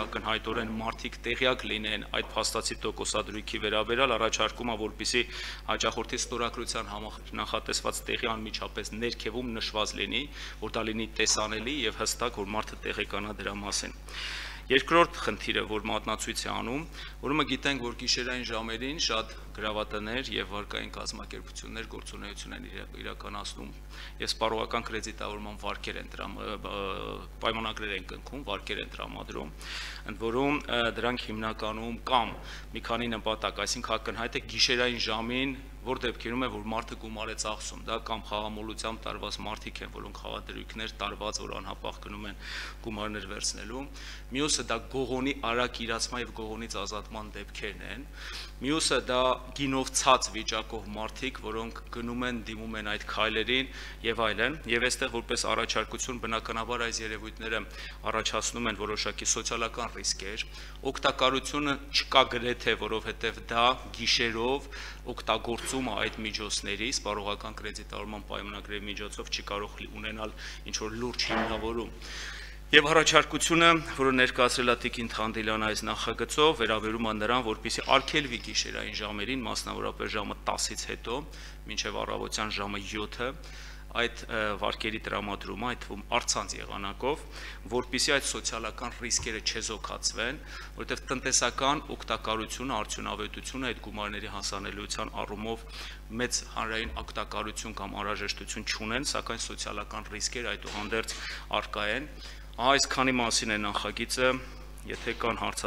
ակնհայտորեն մարդիկ տեղյակ լինեն այդ փաստացի տոկոսադրույքի վերաբերյալ, առաջարկում է, որպեսզի հաճախորդի ստորագրության նախատեսված տեղի անմիջապես ներքևում նշված լինի, որ դա լինի տեսանելի եւ հստակ, որ մարդը տեղեկանա դրա մասին։ Երկրորդ խնդիրը, որ մատնացույց է անում, ուրեմն գիտենք, որ գիշերային ժամերին շատ գրավատներ եւ վարկային կազմակերպություններ գործունեություն են իրականացնում եւ սպառողական կրեդիտավորման վարկեր են պայմանագրեր են կնքում, վարկեր են տրամադրում, ընդ որում դրանք հիմնականում կամ մի քանի նպատակ, այսինքն ակնհայտ է գիշերային ժամին, որ դեպքերում է, որ մարդը գումար է ծախսում, դա կամ խաղամոլությամբ տարված մարդիկ են, որոնք խաղադրույքներ տարված, որ անհապաղ գնում են գումարներ վերցնելու, մյուսը դա գողոնի արագ իրացման եւ գողոնից ազատման դեպքերն են, մյուսը դա գինով ցած վիճակով մարդիկ, որոնք գնում են, դիմում են այդ քայլերին եւ այլն, եւ այստեղ որպես առաջարկություն բնականաբար այս երևույթները առաջացնում են որոշակի սոցիալական ռիսկեր, օգտակարությունը չկա գրեթե, որովհետեւ դա գիշերով օգտագործում է այդ միջոցների, սպառողական կրեդիտավորման պայմանագրերի միջոցով չի կարող ունենալ ինչ-որ լուրջ հիմնավորում։ Եվ առաջարկությունը, որը ներկայացրել է Տիկին Թանդիլյանը այս նախագծով, վերաբերում է նրան, որպեսզի արգելվի գիշերային ժամերին, մասնավորապես ժամը 10-ից հետո, մինչև առավոտյան ժամը 7-ը, այդ վարկերի տրամադրումը, այդ թվում առցանց եղանակով, որպեսզի այդ սոցիալական ռիսկերը չեզոքացվեն, որովհետև տնտեսական օգտակարությունը, արդյունավետությունը այդ գումարների հասանելիության առումով մեծ հանրային օգտակարություն կամ անհրաժեշտություն չունեն, սակայն սոցիալական ռիսկեր այդուհանդերձ առկա են։ Այսքանի մասին է նախագիծը, եթե կան հարցադրումներ